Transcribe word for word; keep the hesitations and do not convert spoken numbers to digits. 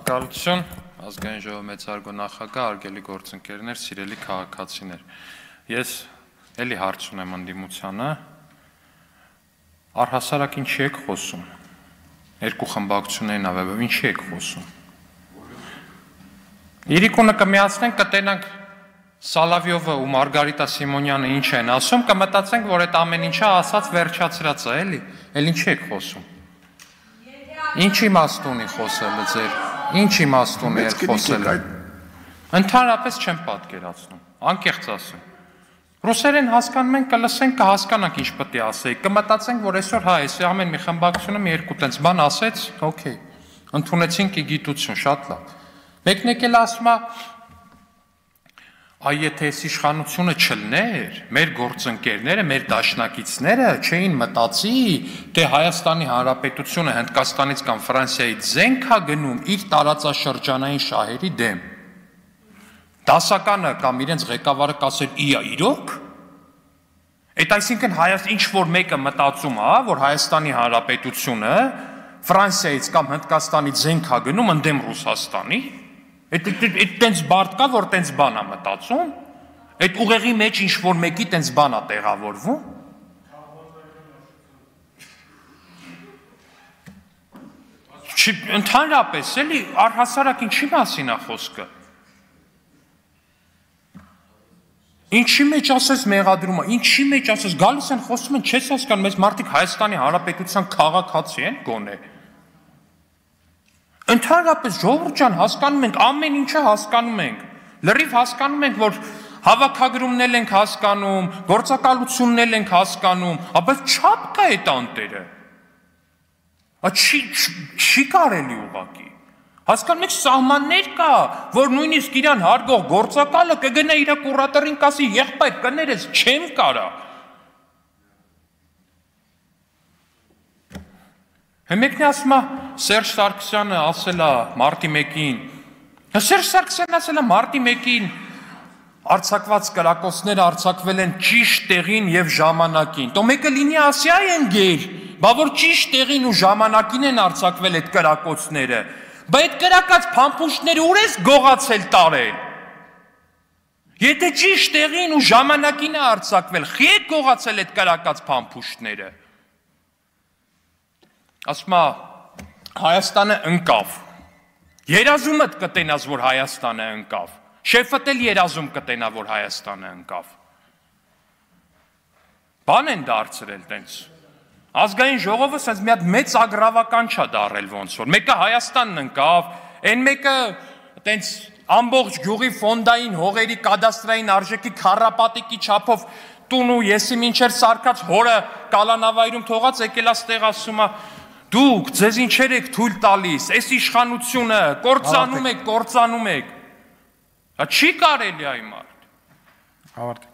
Շնորհակալություն, ազգային ժողովի մեծարգո նախագահ, արգելի գործընկերներ, սիրելի քաղաքացիներ։ Ես էլի հարց ունեմ ընդդիմությանը, առհասարակ ինչի եք խոսում։ Երկու խմբակցություններին ավեվով ինչի եք խոսում։ Իրիկունը կմիացնենք, կտենանք Սալավյովը ու Մարգարիտա Սիմոնյանը ինչ են ասում, կմտածենք, որ այդ ամեն ինչը ասած վերջացրած է, էլի, էլ ինչի եք խոսում։ Ինչ իմաստ ունի խոսելը ձեր, ինչ իմաստ ունի ել խոսելը։ Ընդհանրապես չեմ պատկերացնում, անկեղծ ասում։ Ռուսերեն հասկանում ենք, կլսենք, կհասկանանք ինչ պետք է ասեի, կմտածենք, որ այսօր հա, այս ամեն մի խմբակցությունը մի երկու տենց բան ասեց, օքեյ, ընդունեցինք գիտություն, շատ լավ։ Մեկն եկել ասում է, այ եթե այս իշխանությունը չլներ, մեր գործընկերները, մեր դաշնակիցները չէին մտածի, թե Հայաստանի Հանրապետությունը Հնդկաստանից կամ Ֆրանսիայից զենք է գնում իր տարածաշրջանային շահերի դեմ։ Դասականը կամ իրենց ղեկավարը կասեր՝ «Իա, իրոք»։ Այդ այսինքն Հայաստան ինչ որ մեկը մտածում է, որ Հայաստանի Հանրապետությունը Ֆրանսիայից կամ Հնդկաստանից զենք է գնում ընդդեմ Ռուսաստանի։ Այդ տենց բարդ կա, որ տենց բան է մտածում, այդ ուղեղի մեջ ինչ-որ մեկի տենց բան է տեղավորվում։ Ընդհանրապես, էլի, առհասարակ ինչի մասին է խոսքը։ Ինչի մեջ ասես մեղադրումը, ինչի մեջ ասես, գալիս են խոսում են, չես հասկանում, մեզ մարդիկ Հայաստանի Հանրապետության քաղաքացի են գոնե։ Ընդհանրապես ժողովուրդ ջան հասկանում ենք, ամեն ինչը հասկանում ենք, լրիվ հասկանում ենք, որ հավաքագրումն ենք հասկանում, գործակալությունն ենք հասկանում, բայց չափ կա այդ անտերը, չի կարելի ուղղակի, հասկանում եք սահմաններ կա, որ նույնիսկ իրան հարգող գործակալը կգնա իր կուրատորին կասի եղբայր կներես չեմ կարա։ Մեկն ասում է Սերժ Սարգսյանը ասել է մարտի մեկին, Սերժ Սարգսյանն ասել է մարտի մեկին արձակված կրակոցները արձակվել են ճիշտ տեղին եւ ժամանակին։ Տո մեկը լինի ասի այ են գեր, բա որ ճիշտ տեղին ու ժամանակին են արձակվել այդ կրակոցները, բա այդ կրակած փամփուշտները ուր ես գողացել տարել։ Եթե ճիշտ տեղին ու ժամանակին է արձակվել, խի է գողացել այդ կրակած փամփուշտները։ Ասում է Հայաստանը ընկավ, երազումդ կտենաս, որ Հայաստանը ընկավ, շեֆդ էլ երազում կտենա, որ Հայաստանը ընկավ, բան են դարձրել տենց, ազգային ժողովը սենց մի հատ մեծ ագրավական չա դարել ոնց որ, մեկը Հայաստանն ընկավ, են մեկը տենց ամբողջ գյուղի ֆոնդային հողերի կադաստրային արժեքի քառապատիկի չափով տուն ու եսի մինչեր սարկած հորը կալանավայրում թողած եկել աստեղ ասում է դուք ձեզ ինչեր եք թույլ տալիս, այս իշխանությունը կործանում եք, կործանում եք, չի կարելի այ մարդ։